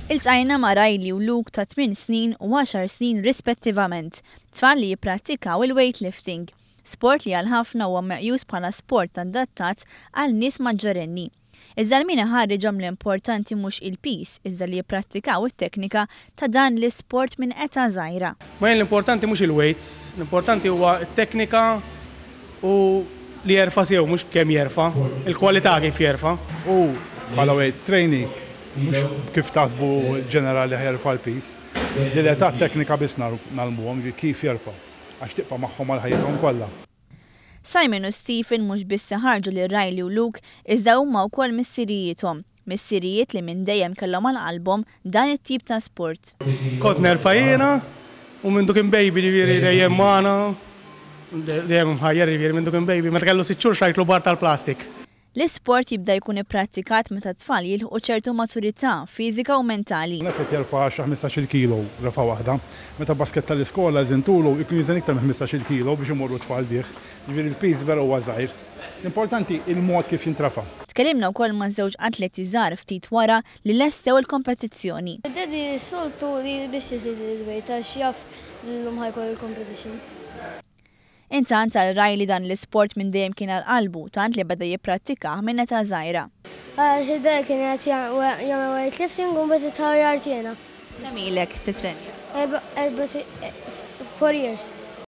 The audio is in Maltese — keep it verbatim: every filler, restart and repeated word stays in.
Iltqajna ma' Riley u Luke ta' tmien snin u għaxar snin rispettivament, tfal li jipprattikaw il-weightlifting, sport li għal ħafna huwa meqjus bħala sport adattat għal nies maġġorenni. Iżda min iħarriġhom l-importanti mhux il-piż, iżda li jipprattikaw it-teknika ta' dan l-isport minn età żgħira. Ma jien l-importanti mhux il-weights, l-importanti huwa t-teknika u li jerfa' sew, mhux kemm jerfa', il-kwalità kif jerfa'. U bħala weight training, mhux kif taħsbu ġenerali jerfa' l-piż. Din l-età teknika biss ngħallmuhom kif jerfa', għax tibqa' magħhom għal ħajjithom kollha. Simon u Stephen mhux biss ħarġu lil Riley u Luke, iżda huma wkoll missirijiethom. Missirijiet li minn dejjem kellhom għal qalbhom dan it-tip ta' sport. Kont nerfa' jiena u minn kien baby, ġifieri dejjem magħna, dejjem mħajjar, ġifieri minn kien baby, meta kellu sitt xhur xtrajtlu bar tal-plastik. L-isport jibda jkun ipprattikat meta tfal jilħqu ċertu maturità fiżika u mentali. Qed jerfa' xi ħmistax-il kilo refa' waħda. Meta basket tal-iskola żintulu jkun jiżen iktar minn ħmistax-il kilo biex imorru tfal bih. Ġifieri l-piż vera huwa żgħir. L-importanti il-mod kif jintrafa'. Tkellimna wkoll ma' żewġ atleti żgħar ftit wara li lestew il-kompetizzjoni. Daddy soltu li biss jżid il-weight għax jaf l-lum ħa jkollu il-competition. Intant għal Riley dan l-isport minn dejjem kien għal qalbu, tant li beda jipprattikah minn età żgħira. Għax id-daddy kien qed jagħmel weightlifting u mbagħad itħajjart jiena. Kemm ilek titrenja? Erba' four years.